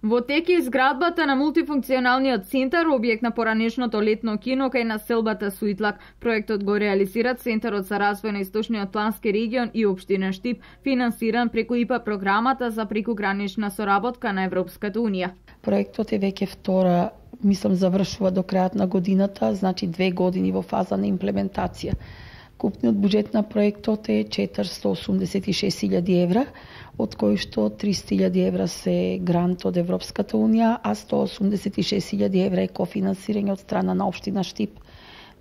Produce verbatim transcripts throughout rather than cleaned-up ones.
Во тек е изградбата на мултифункционалниот центар, објект на поранешното летно кино кај населбата Суитлак. Проектот го реализира Центарот за развој на Источниот плански регион и општина Штип, финансиран преку ИПА програмата за прекугранична соработка на Европската унија. Проектот е веќе втора, мислам, завршува до крајот на годината, значи две години во фаза на имплементација. Купниот буџет на проектот е четиристо осумдесет и шест илјади евра, од кои што триста илјади евра се грант од Европската унија, а сто осумдесет и шест илјади евра е кофинансирање од страна на општина Штип.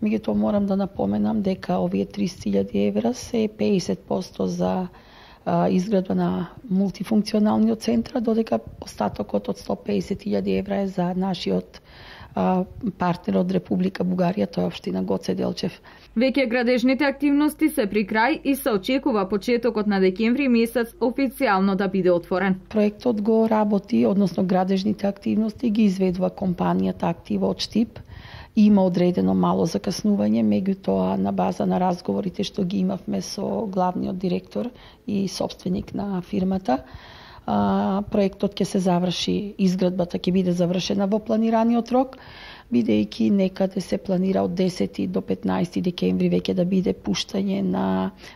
Меѓутоа морам да напоменам дека овие триста илјади евра се педесет проценти за а, изградба на мултифункционалниот центар, додека остатокот од сто педесет илјади евра е за нашиот а, партнер од Република Бугарија, тоа е општина Гоце Делчев. Веќе градежните активности се при крај и се очекува почетокот на декември месец официјално да биде отворен. Проектот го работи, односно градежните активности ги изведува компанијата Актива од Штип. Има одредено мало закаснување, меѓутоа на база на разговорите што ги имавме со главниот директор и собственик на фирмата, а, проектот ќе се заврши, изградбата ќе биде завршена во планираниот рок, бидејќи некаде се планира од десети до петнаесети декември веќе да биде пуштање на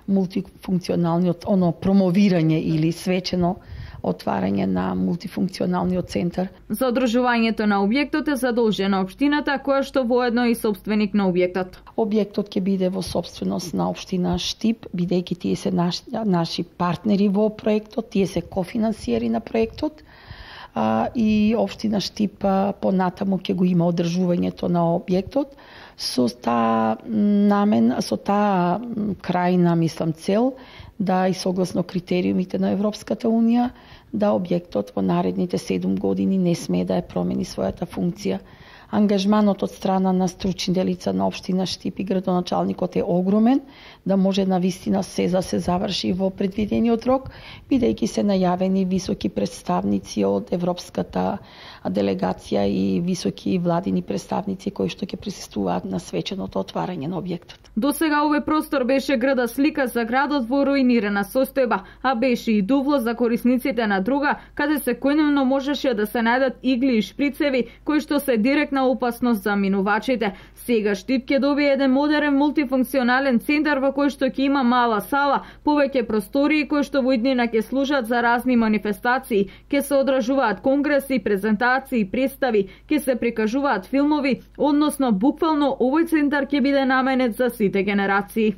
мултифункционалниот, оно промовирање или свечено отварање на мултифункционалниот центар. За одржувањето на објектот е задолжена општината, која што воедно е и собственик на објектот. Објектот ќе биде во собственост на општина Штип, бидејќи тие се наши, наши партнери во проектот, тие се кофинансиери на проектот. А, и општина Штип понатаму ќе го има одржувањето на објектот со таа намен, со таа крајна, мислам, цел да и согласно критериумите на Европската унија да објектот во наредните седум години не смее да ја промени својата функција. Ангажманот од страна на стручните лица на општина Штип и градоначалникот е огромен, да може навистина се за се заврши во предвидениот рок, бидејќи се најавени високи представници од Европската делегација и високи владини представници кои што ќе присуствуваат на свеченото отварање на објектот. До сега овој простор беше града слика за градот во руинирана состојба, а беше и дувло за корисниците на друга, каде секојдневно можеше да се најдат игли и шприцеви кои што се директна опасност за минувачите. Сега Штип ќе добие еден модерен мултифункционален центар во кој што ќе има мала сала, повеќе простории кои што во иднина ќе служат за разни манифестации, ќе се одржуваат конгреси, презентации, представи, ќе се прикажуваат филмови, односно буквално овој центар ќе биде наменет за сите генерации.